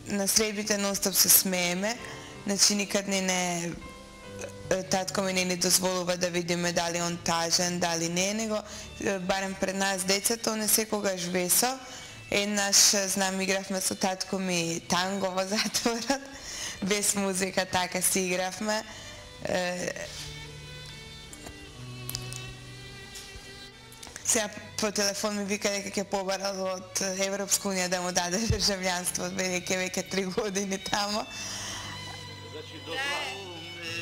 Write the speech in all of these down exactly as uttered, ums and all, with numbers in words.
на средбите нон-стоп се смееме, значи никад не не татко ми не ни дозволува да видиме дали он тажен, дали не, него барем пред нас децата, он е секогаш весел. Еднаш, знам, игравме со татко ми танго во затворот, без музика, така си игравме. Сега по телефон ми вика дека ќе побарал од Европска унија да му даде државјанство, бидејќи веќе три години тамо.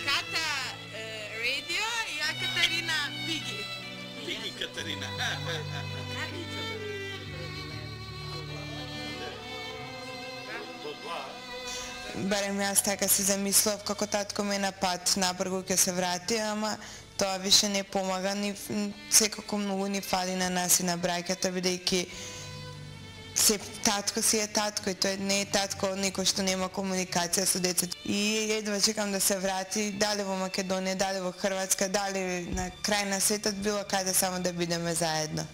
Ката радио и ја Катерина Пиги. Пиги Катерина. Барем јас така си замислав како татко ме на пат напрегу ќе се врати, ама тоа више не помага, ни секако многу ни фали на нас и на браќата, бидејќи се татко си е татко и тој не е татко некој што нема комуникација со децата. И едва чекам да се врати, дали во Македонија, дали во Хрватска, дали на крај на светот, било каде, само да бидеме заедно.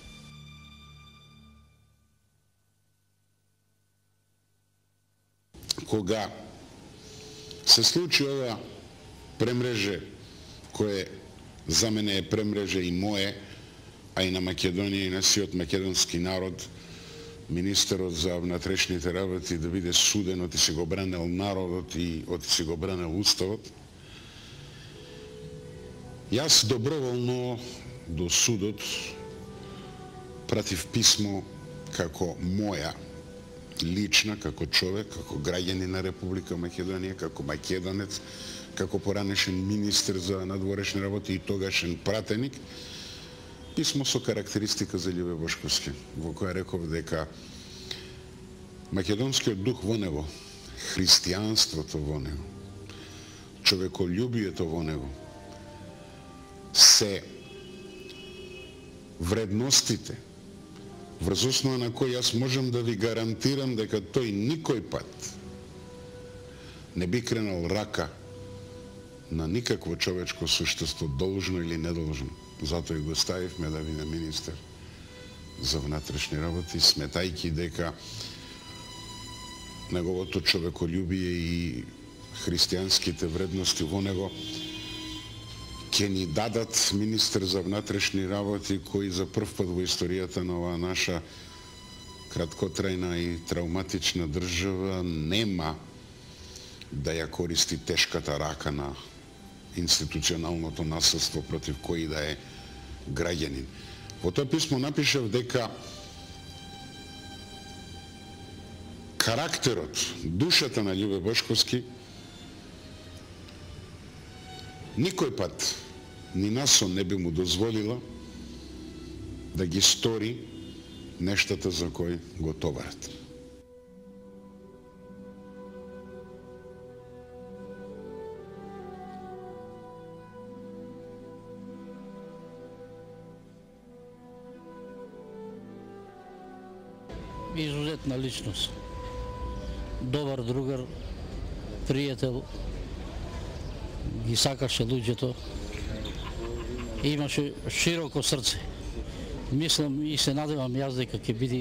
Кога се случи ова премреже, кое за мене е премреже и мое, а и на Македонија и на сиот македонски народ, министерот за внатрешните работи да биде суден, оти си го бранел народот и оти си го бранел уставот. Јас доброволно до судот пратив писмо како моја лична, како човек, како граѓанин на Република Македонија, како македонец, како поранешен министер за надворешни работи и тогашен пратеник, писмо со карактеристика за Љубе Бошковски, во која реков дека македонскиот дух во него, христијанството во него, човеколюбието во него, се вредностите врз основа на кој јас можам да ви гарантирам дека тој никој пат не би кренал рака на никакво човечко суштество, должно или недолжно. Затоа и го ставивме да биде министер за внатрешни работи, сметајќи дека неговото човеколюбие и христијанските вредности во него ќе ни дадат министер за внатрешни работи кој за прв пат во историјата на оваа наша краткотрајна и травматична држава нема да ја користи тешката рака на институционалното насилство против кој да е граѓанин. Во тоа писмо напишав дека карактерот, душата на Љубе Бошковски никој пат ни насо не би му дозволила да ги стори нештата за кои го товарат. Изузетна личност. Добар другар, пријател, ги сакаше луѓето, имаше широко срце. Мислам и се надевам јас дека ќе биде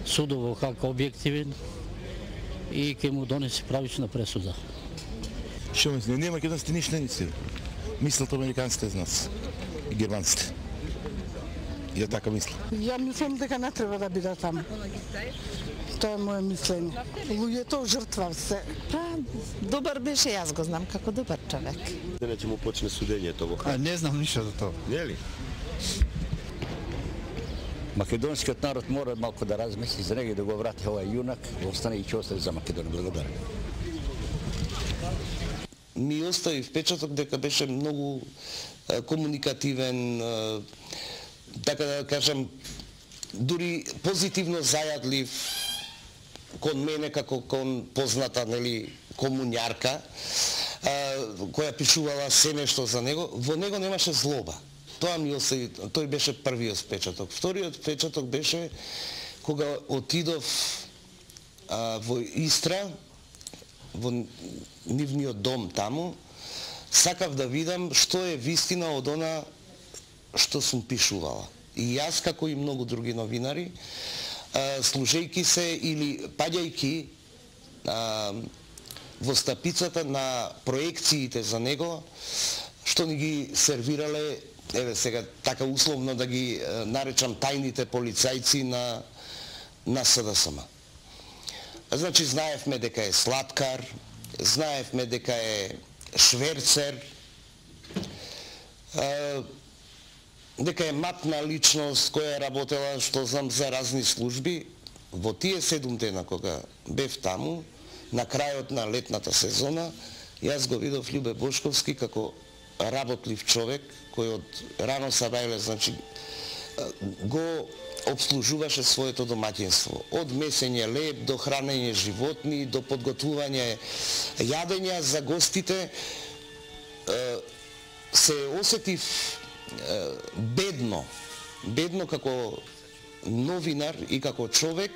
судово како објективен и ќе му донесе правична пресуда. Што мисли? Не македонците ништо не мислат. Мислат американците за нас и германците. И така мисля. Ја мислам дека не треба да биде таму. Тоа е моје мислење. Луѓето жртва се. Па, добар беше, јас го знам како добар човек. Дене ќе му почне судењето во Хаг. Не знам ништо за тоа. Не ли? Македонскиот народ мора малку да размисли за него и да го врати овај јунак, остане и ќе остане за Македонија. Благодарам. Ми остави впечаток дека беше многу комуникативен, така да кажам, дури позитивно зајадлив кон мене како кон позната, нели, комуњарка, која пишувала се нешто за него. Во него немаше злоба. Тоа ми остави, тој беше првиот впечаток. Вториот впечаток беше кога отидов а, во Истра, во нивниот дом таму, сакав да видам што е вистина од она што сум пишувала. И јас, како и многу други новинари, служејки се или паѓајки а, во стапицата на проекциите за него, што ни ги сервирале, еве сега така условно да ги а, наречам тајните полицајци на на С Д С М. Значи знаевме дека е слаткар, знаевме дека е шверцер, а, дека е матна личност која е работела, што знам, за разни служби. Во тие седум дена кога бев таму, на крајот на летната сезона, јас го видов Љубе Бошковски како работлив човек, кој од рано сабајле, значи, го обслужуваше своето домаќинство. Од месење леб, до хранење животни, до подготвување јадења за гостите. Се осетив бедно, бедно како новинар и како човек,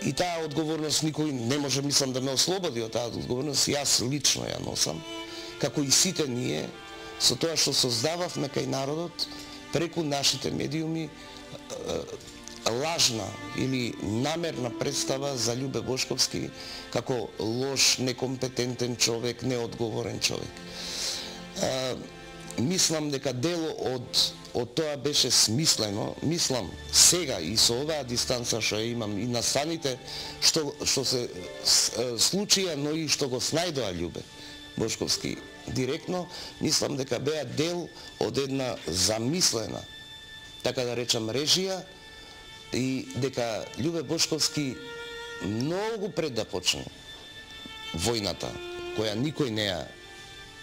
и таа одговорност никој не може, мислам, да ме ослободи од таа одговорност, јас лично ја носам, како и сите ние, со тоа што создававме кај народот, преку нашите медиуми, лажна или намерна представа за Љубе Бошковски како лош, некомпетентен човек, неодговорен човек. Мислам дека дело од од тоа беше смислено. Мислам сега и со оваа дистанца што ја имам и настаните што што се случија, но и што го снајдоа Љубе Бошковски директно, мислам дека беа дел од една замислена, така да речам, режија, и дека Љубе Бошковски многу пред да почне војната, која никој не ја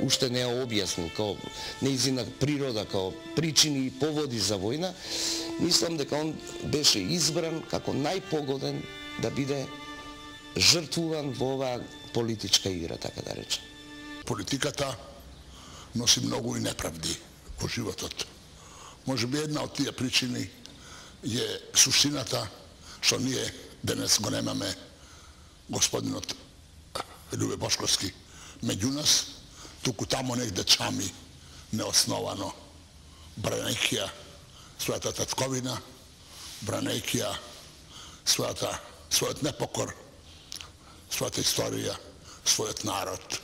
уште не ја објаснил као нејзина природа, као причини и поводи за војна, мислам дека он беше избран како најпогоден да биде жртвуван во оваа политичка игра, така да речем. Политиката носи многу и неправди во животот. Може би една од тие причини е суштината што ние денес го немаме господинот Љубе Бошковски меѓу нас, туку тамо негде чами неосновано, бранејќија својата татковина, бранејќија својата својот непокор, својата историја, својот народ,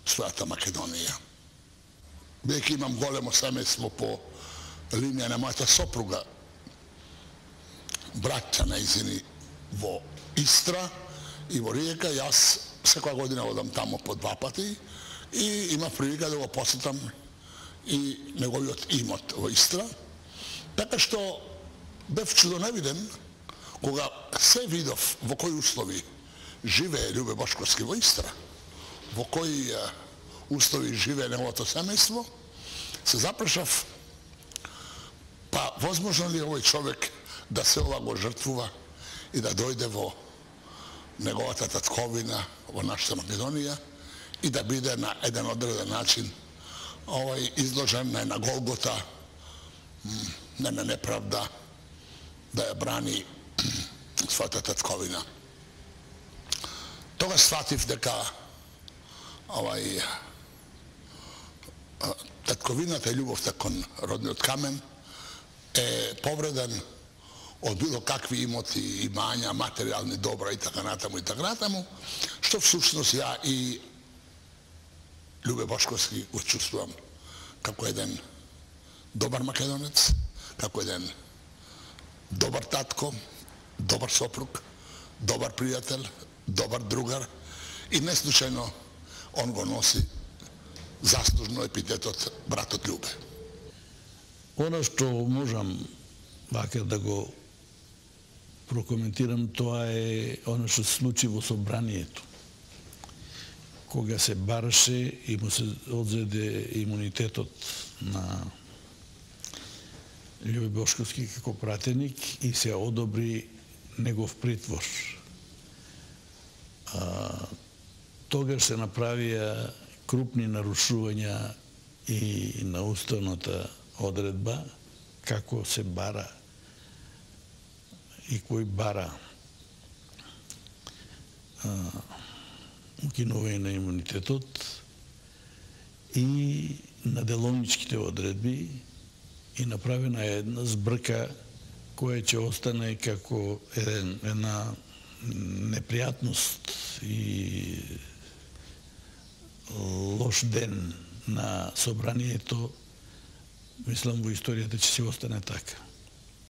својата Македонија. Бидејќи имам големо семејство по линија на мојата сопруга, браќа нејзини во Истра и во Риека, јас секоја година одам тамо по два пати и има прилика да го посетам и неговиот имот во Истра. Така што бев чудоневиден кога се видов во кои услови живее Љубе Бошковски во Истра, во кои услови живее неговото семејство, се запрашав, па возможно ли овој човек да се ова го жртвува и да дојде во неговата татковина, во нашата Македонија, и да биде на еден одреден начин овај изложен на една голгота, на една неправда, да ја брани својата татковина. Тогаш сватив дека овај татковината и љубовта кон родниот камен е повреден од било какви имоти, имања, материјални добра и така натаму и така натаму, што всушност ја и Љубе Бошковски го чувствувам како еден добар македонец, како еден добар татко, добар сопруг, добар пријател, добар другар, и неслучајно он го носи заслужно епитетот братот Љубе. Оно што можам вака да го прокоментирам, тоа е оно што се случи во собранието. Кога се бараше и му се одзеде имунитетот на Љубе Бошковски како пратеник и се одобри негов притвор. А, тогаш се направија крупни нарушувања и на уставната одредба, како се бара и кој бара а, укинување на имунитетот и на деловничките одредби, и направена една збрка која ќе остане како еден, една непријатност и лош ден на собранието, мислам во историјата ќе си остане така.